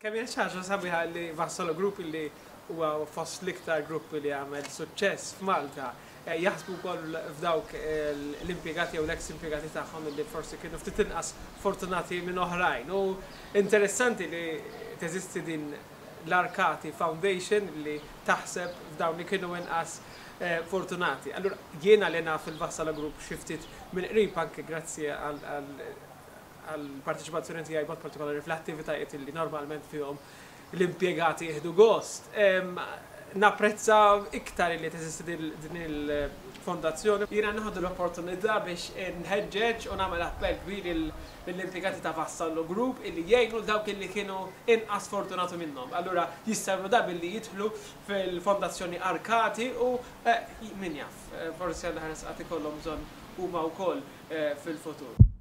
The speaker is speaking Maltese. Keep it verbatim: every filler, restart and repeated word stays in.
Kemm hija ħaġa sabiħa li Vassallo Group, li huwa fost l-iktar gruppi li għamel suċċess f'Malta, eh, jaħsbu wkoll f'dawk eh, l-impjegati jew l-ex impjegati tagħhom li forsi kienu ftit inqas fortunati minn oħrajn. U interessanti li teżisti din l-Arkati Foundation li taħseb f'dawn li kienu inqas eh, fortunati. Allura jiena li naf il-Vassallo Group xi ftit minn qrib, anke grazzi għal għal-parteċipazzjoni tiegħi b'mod partikolari fl-attivitajiet li normalment fihom l-impjegati jieħdu gost, napprezza iktar li teżisti din il-fondazzjoni. Jiena nieħu l-opportunità biex nħeġġeġ u nagħmel appell kbir lill-impjegati ta' Vassallo Group illi jgħinu dawk illi kienu inqas fortunati minnhom. Allura jistgħu da billi jidħlu fil-fondazzjoni Arkati u eh, min jaf, eh, forsi għal ħares qatt ikollhom bżonn huma wkoll eh, fil-futur.